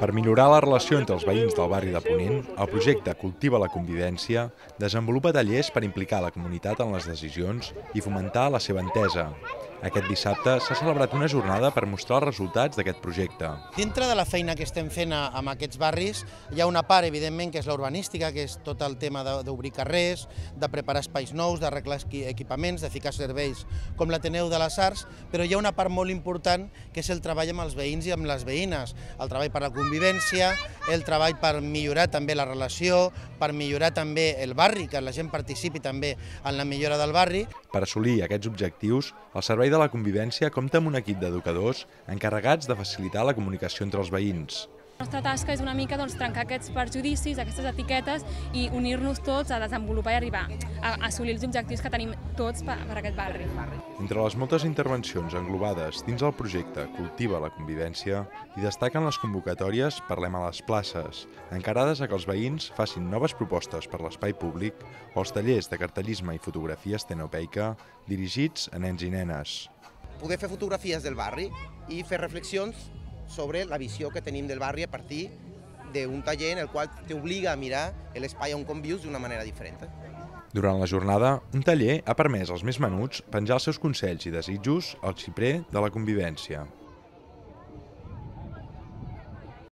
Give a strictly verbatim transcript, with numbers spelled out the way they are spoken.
Per millorar la relació entre els veïns del barri de Ponent, el projecte Cultiva la Convivència desenvolupa tallers per implicar la comunitat en les decisions i fomentar la seva entesa. Aquest dissabte s'ha celebrat una jornada per mostrar els resultats d'aquest projecte. Dintre de la feina que estem fent en aquests barris hi ha una part, evidentment, que és la urbanística, que és tot el tema d'obrir carrers, de preparar espais nous, d'arreglar equipaments, de ficar serveis com l'Ateneu de les Arts, però hi ha una part molt important que és el treball amb els veïns i amb les veïnes, el treball per la convivència, el treball per millorar també la relació, per millorar també el barri, que la gent participi també en la millora del barri. Per assolir aquests objectius, el Servei de la Convivència compta amb un equip d'educadors encarregats de facilitar la comunicació entre els veïns. La nostra tasca és una mica doncs, trencar aquests perjudicis, aquestes etiquetes i unir-nos tots a desenvolupar i arribar a assolir els objectius que tenim tots per, per aquest barri. Entre les moltes intervencions englobades dins el projecte Cultiva la Convivència, hi destaquen les convocatòries Parlem a les places, encarades a que els veïns facin noves propostes per l'espai públic, o els tallers de cartellisme i fotografia estenopeica dirigits a nens i nenes. Poder fer fotografies del barri i fer reflexions sobre la visió que tenim del barri a partir d'un taller en el qual t'obliga a mirar l'espai on convius d'una manera diferent. Durant la jornada, un taller ha permès als més menuts penjar els seus consells i desitjos al xiprer de la convivència.